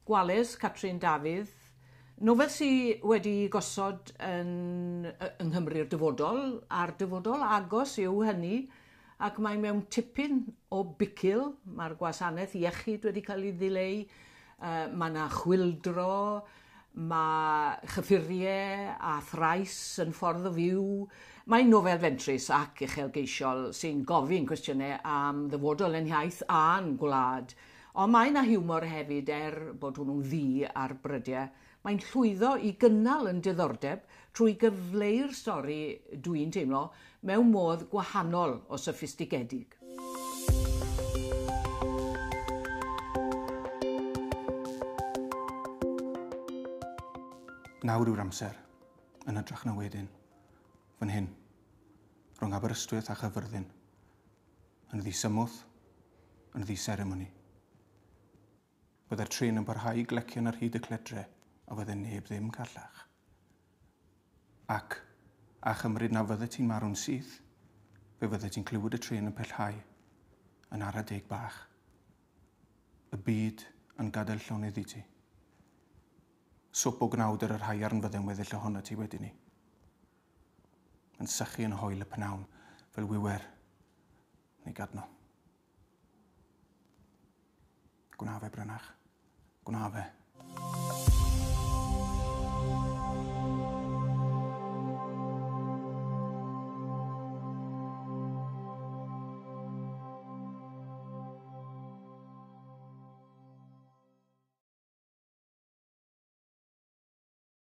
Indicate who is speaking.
Speaker 1: Gwales, Catrin Dafydd. Nofel sy wedi gosod yn, yng Nghymru'r dyfodol, a'r dyfodol agos yw hynny, ac mae mewn tipyn o bicil, mae'r gwasanaeth iechyd wedi cael ei ddileu, mae yna chwildro, mae chyffuriau a thrais yn ffordd o fyw. Mae'n nofel fentrus ac uchelgeisiol sy'n gofyn cwestiynau am ddyfodol ein hiaith a'n gwlad. Ond mae yna hiwmor hefyd er bod hwnnw'n ddu ar brydiau. Mae'n llwyddo i gynnal yn diddordeb trwy gyfleu'r stori, dwi'n teimlo, mewn modd gwahanol o soffistigedig.
Speaker 2: Nawr yw'r amser, yn hytrach na wedyn. Fan hyn, rhwng Aberystwyth a Chyfyrddin. Yn ddisymwth, yn ddiseremoni. Byddai'r trên yn parhau i glecian ar hyd y cledre a fydde neb ddim callach. Ac, a chymryd na fyddet ti'n marw'n syth, fe fyddet ti'n clywed y trên yn pellhau, yn ara deg bach. Y byd yn gadael llonydd i ti. Swp o gnawd ar yr haearn fydde'n weddill ohonot ti wedyn 'ny. Yn sychu yn hoel y pnawn fel wiwer neu gadno. Gwna fe, Brynach. Gwna fe.